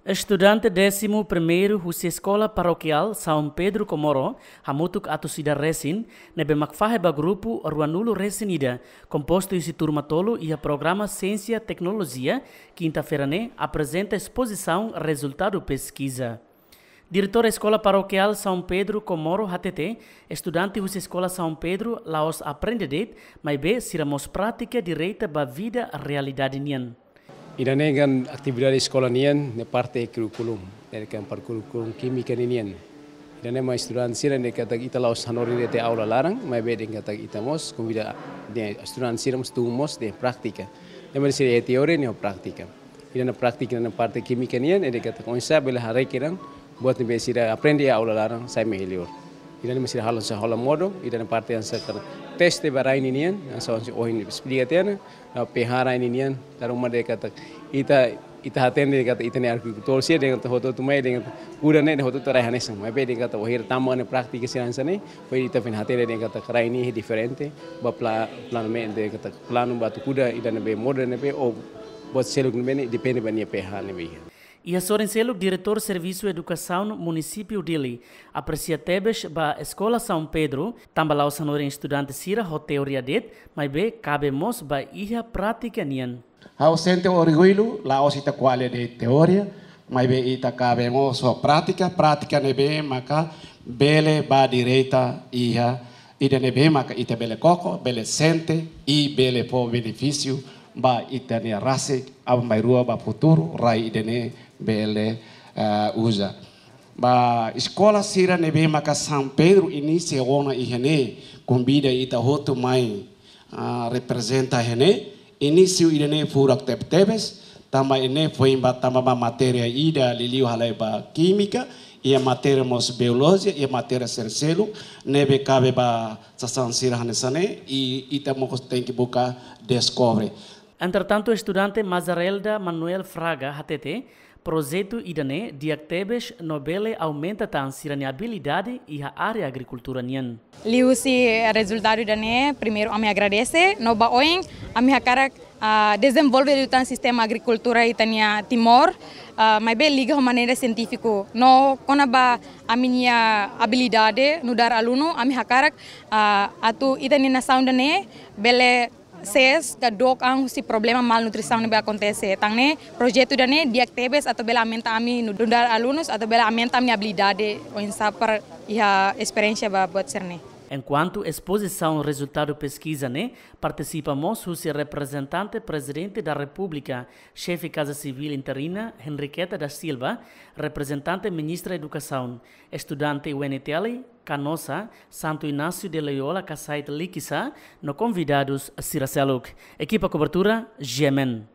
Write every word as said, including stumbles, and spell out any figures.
Estudante décimo primeiro husi Eskola Parokiál São Pedro Comoro hamutuk atus ida resin, ne'ebé mak fahe ba grupu ruanulu resin ida, kompostu husi turma tolu iha programa Siénsia Teknolojia, kinta-feira ne'e aprezenta espozisaun rezultadu peskiza. Diretór Eskola Parokiál São Pedro Comoro hatete, estudante husi Eskola São Pedro la'ós aprende de'it, maibé sira mós pratika direta ba vida realidade nian. Ida-ne'e kan atividade eskola nian, ne'e parte kurríkulu, ne'e kan parte kurríkulu kímika nian. Ida-ne'e mak estudante sira ne'e katak ita la'ós hanorin de'it iha aula laran, maibé dehan katak ita mós konvida dehan estudante sira mós tun mós dehan prátika. Ne'e mak sira iha teoria ne'e iha prátika. Ida-ne'e prátika ne'e parte kímika nian, ida katak oinsá bele haree kedan buat ne'ebé sira aprende iha aula laran sai mai liur. Ida-ne'e mak sira halo hanesan hola modo, ida-ne'e parte hanesan katak teste ba rai ninian, hanesan ohin esplika tiha ona, ah, pH rai ninian, karena uma dehan katak ita, ita hatene katak ita-nia agrikultór sira dehan katak hotu-hotu mai dehan katak kuda ne'e dehan hotu-hotu rai hanesan, maibé dehan katak wainhira tama ona prátika sira hanesan ne'e, foin ita foin hatene dehan katak rai ne'e diferente, ba pla-, planu me'e dehan katak planu ba atu kuda ida ne'ebé modo ne'ebé ou buat seluk ne'ebé ne'e depende ba nia pH ne'ebé iha. Iha sorin seluk, Diretór Servisu Edukasaun Munisípiu Dili apresia tebes ba Eskola São Pedro, tanba la'ós hanorin estudante sira ho teoria de'it, maibé kabe mós ba iha prátika nian. Ha'u sente orgullu, la'ós ita ko'alia de'it teoria, maibé ita kabe mós ho prátika, prátika ne'ebé maka bele ba direta iha ida ne'ebé maka ita bele koko, bele sente, i bele fó benefísiu ba ita-nia rasik, aban-bainrua ba futuru, rai ida-ne'e bele, eh, uza. Ba eskola sira ne'ebé maka São Pedro inísiu ona iha ne'e, konvida ita hotu mai, ah, reprezenta iha ne'e, inísiu ida-ne'e furak tebetebes, tanba ida-ne'e foin ba tanba ba matéria ida liuliu halai ba kímika, iha matéria mós biolojia, iha matéria sira seluk, ne'ebé kabe ba sasán sira hanesan ne'e, i ita mós tenke buka deskobre. Entretantu, estudante Mazarelda Manuel Fraga hatete, projetu ida-ne'e di'ak tebes no bele aumenta tan sira-nia abilidade iha área agrikultura nian. Liuhusi rezultadu ida-ne'e, primeiru ami agradese, no ba oin ami hakarak, ah, dezenvolve liután sistema agrikultura ita-nia Timor, ah, maibé liga ho maneira sientífiku. No kona-ba ami-nia abilidade nu'udar alunu, ami hakarak, ah, atu ita-nia nasaun ida-ne'e bele sees ka dook an husi problema malnutrisaun ne'ebé akontese. Tan ne'e projetu ida-ne'e di'ak tebes atu bele aumenta ami nu'udar alunus, atu bele aumenta ami abilidade oinsá para iha esperiénsia ba buat sira-ne'e. Enkuantu espozisaun rezultadu peskiza ne'e, partisipa mós husi reprezentante Prezidente da Repúblika, Xefe Kaza Sivíl interina, Henriqueta da Silva, reprezentante Ministra Edukasaun, estudante U N T L, Canossa, Santo Inácio de Loyola, Kasait Likisá, no konvidadus sira seluk. Ekipa kobertura, G M N.